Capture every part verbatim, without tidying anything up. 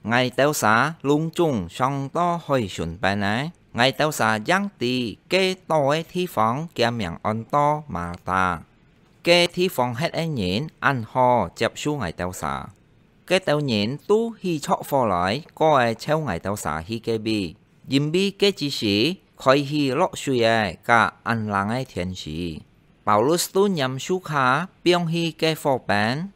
，𠊎兜儕攏總上到海脣邊仔，𠊎兜儕正知該島个地方厥名安到Malta。該地方歇个人恁好接受𠊎兜儕，該兜人都起著火來，過仔湊𠊎兜儕去該位，因為該之時開始落水仔，佮恁冷个天時。Paulus都拈樹椏放去該火邊，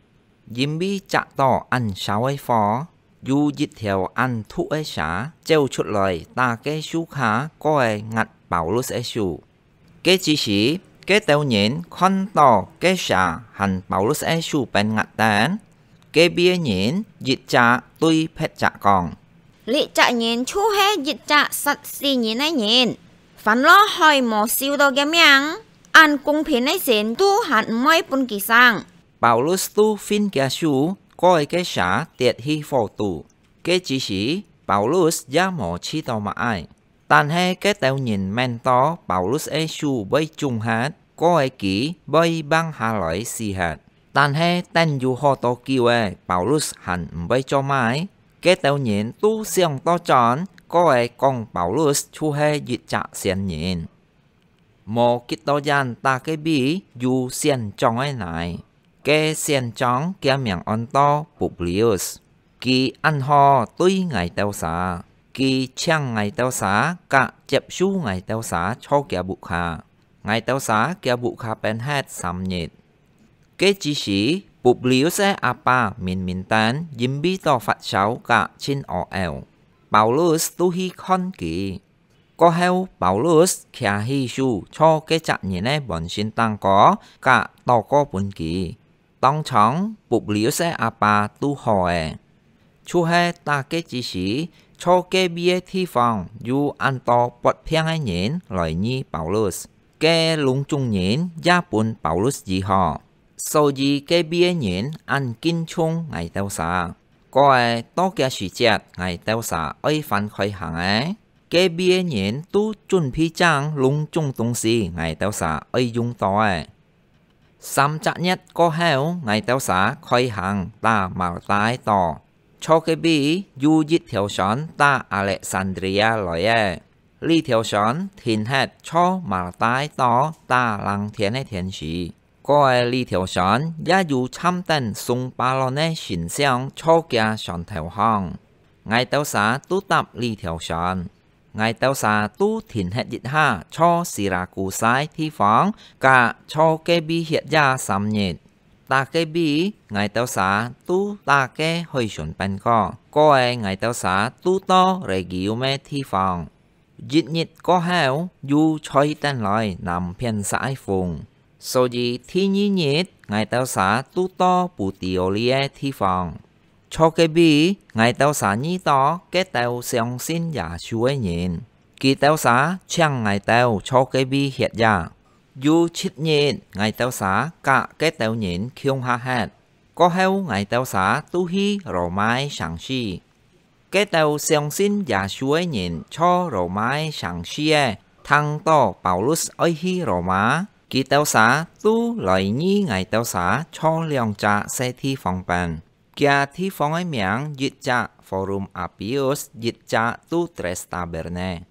因為炙著恁燒个火，有一條恁毒个蛇走出來，打該樹椏，過仔齧Paulus个手。該之時，該兜人看著該蛇還Paulus个手分齧等，該位个人一隻對別隻講：「這隻人就係一隻殺死人个人！還落海無收著厥命，恁公平个神都還毋會分佢生！」Paulus都分厥手，過仔該蛇跌去火肚。該之時，Paulus也無試著麼个，但係該兜人愐著Paulus个手會腫忒，過仔佢會橫下來死忒。但係等有好多久仔，Paulus還毋會做麼个，該兜人都想倒轉，過仔講Paulus就係一隻仙人。 無幾多遠，在該位有仙長个孻。該仙長厥名安到Publius，佢恁好對𠊎兜儕，佢請𠊎兜儕佮接收𠊎兜儕坐厥屋下。𠊎兜儕厥屋下跈歇三日。該之時，Publius个阿爸明明等因為著發燒佮盡屙嘔，Paulus都去看佢。 過後，Paulus擎起手坐該隻人个門信頂高，佮禱告分佢。當場，Publius个阿爸都好咧。就係在該之時，坐該位个地方有恁多發病个人來遇Paulus，該攏總人也分Paulus醫好。 所以該位个人恁敬重𠊎兜儕。過仔到厥時節，𠊎兜儕愛翻開行咧，該位个人都準備正攏總東西𠊎兜儕愛用著咧。三隻月過後，𠊎兜儕開行在Malta个島。坐該位有一條船在Alexandria來咧，這條船停歇坐Malta个島在冷天个天時。 過仔這條船也有參等送巴崙个神像坐厥船頭項。𠊎兜儕都搭這條船。𠊎兜儕都停歇一下坐Siracusa个地方，佮坐該位歇夜三日。在該位，𠊎兜儕都在該海脣邊過，過仔𠊎兜儕都到Rhegium个地方。 一日過後，又吹等來南片煞个風，所以第二日，𠊎兜儕都到Puteoli个地方。坐該位，𠊎兜儕遇著該兜相信耶穌个人，佢兜儕請𠊎兜坐該位歇夜。有七日，𠊎兜儕佮該兜人共下歇。過後，𠊎兜儕都去羅馬个城市。 該兜相信耶穌个人坐羅馬个城市仔，聽著Paulus愛去羅馬，佢兜儕都來遇𠊎兜儕坐兩隻細地方邊。厥地方个名一隻Forum Appius，一隻都Trastaberne。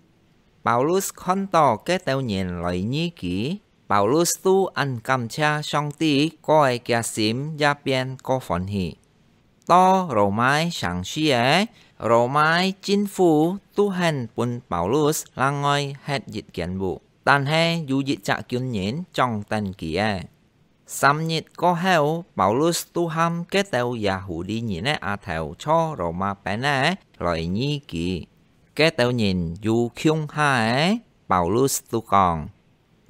Paulus看著該兜人來遇佢，Paulus都恁感謝上帝，過仔厥心也變過歡喜。 到羅馬个城市仔，羅馬个政府都肯分Paulus另外歇一間屋，但係有一隻軍人掌等佢仔。三日過後，Paulus都喊該兜Yahudi人个阿頭坐羅馬邊仔來遇佢。該兜人又共下仔，Paulus都講：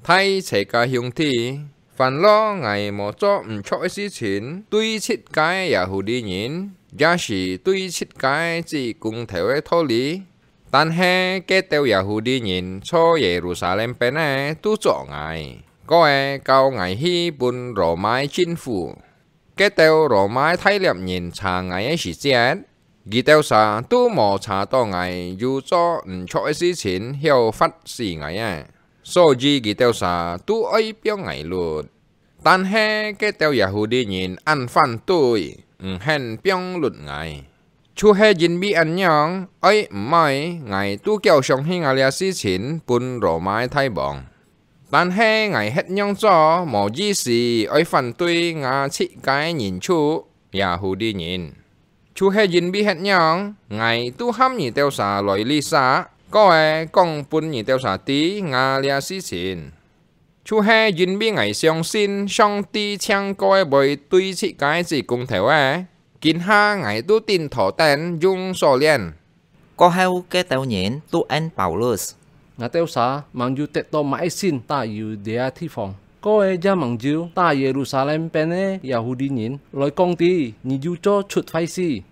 大齊个兄弟，還落𠊎無做毋著个事情，對自家个Yahudi人，也係對自家个至高頭个道理。但係該兜Yahudi人坐Yerusalem邊仔都捉𠊎，過仔交𠊎去分羅馬个政府。 該兜羅馬个大獵人查𠊎个時節，佢兜儕都無查著𠊎有做毋著个事情，曉罰死𠊎仔，所以佢兜儕都愛放𠊎㪐。但係該兜Yahudi人恁反對，毋肯放㪐𠊎。就係因為恁樣，愛毋愛，𠊎都較想起𠊎這事情分羅馬个大王。但係𠊎歇仰做無意思，愛反對吾自家个人族，Yahudi人。就係因為歇仰，𠊎都喊你兜儕來這儕，過仔講分你兜儕知吾這事情。 就係因為𠊎相信上帝淨過仔會對自家个子公頭仔，今下𠊎都頂頭等用鎖鏈。過後，該兜人都應Paulus：「𠊎兜儕吂有得到麼个信戴佢這地方，過仔也吂有戴Yerusalem邊个Yahudi人來講知你有做出壞事。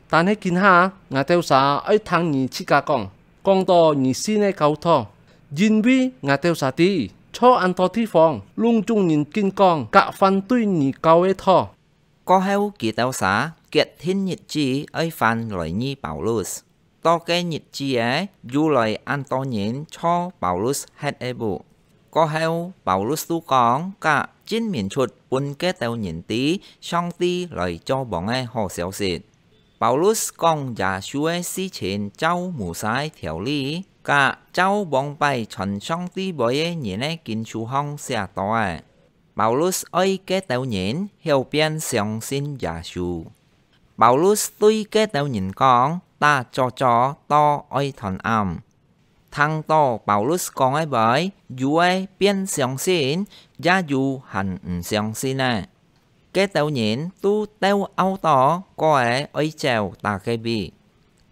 但係今下，𠊎兜儕愛聽你自家講，講到你信个教導，因為𠊎兜儕知，在恁多地方，攏總人緊講佮反對你教个道。」過後，佢兜儕決定日子愛翻來覕Paulus。到該日子仔，又來恁多人坐Paulus歇个屋。過後，Paulus都講佮證明出分該兜人知上帝來做王个好消息。 Paulus講耶穌个事情照Moses个條例，佮照往擺傳上帝話个人个經書項寫到个。Paulus愛該兜人曉變相信耶穌。Paulus對該兜人講：「打早朝到愛斷暗。」 聽到Paulus講个話，有个變相信，也有還毋相信个。該兜人都鬥漚到，過仔愛走打个位。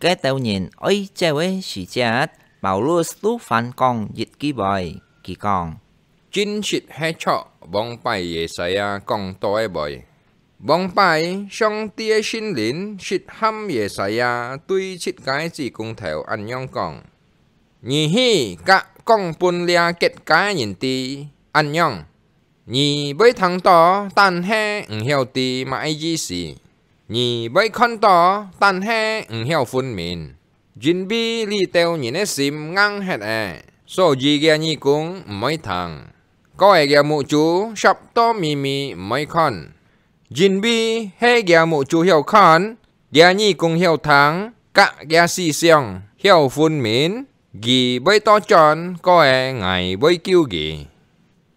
該兜人愛走个時節，Paulus都反講一句話，佢講：「真實係著往擺Yesaya講到个話。 往擺，上帝个聖靈實喊Yesaya對自家个子公頭恁樣講：你去佮講分這國家个人知，恁樣，你會聽到，但係毋曉知麼个意思；你會看到，但係毋曉分明。 因為這兜人个心硬忒了，所以厥耳公毋會聽，過仔厥目珠澀到微微毋會看。因為係厥目珠曉看，厥耳公曉聽，佮厥思想曉分明，佢會倒轉，過仔𠊎會救佢。」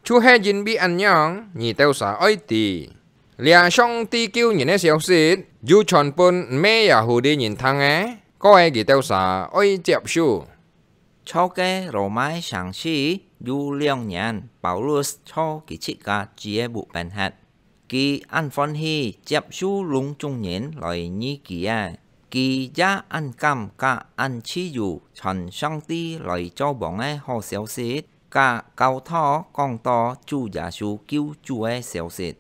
就係因為恁樣，你兜儕愛知，這上帝救人个消息，有傳分毋係Yahudi人聽个，過仔佢兜儕愛接受。在該羅馬个城市有兩年，Paulus在佢自家主个屋背歇。佢恁歡喜接受攏總人來覕佢仔，佢也恁敢佮恁自由傳上帝來做王个好消息， 佮教徒講到主耶穌救主个消息。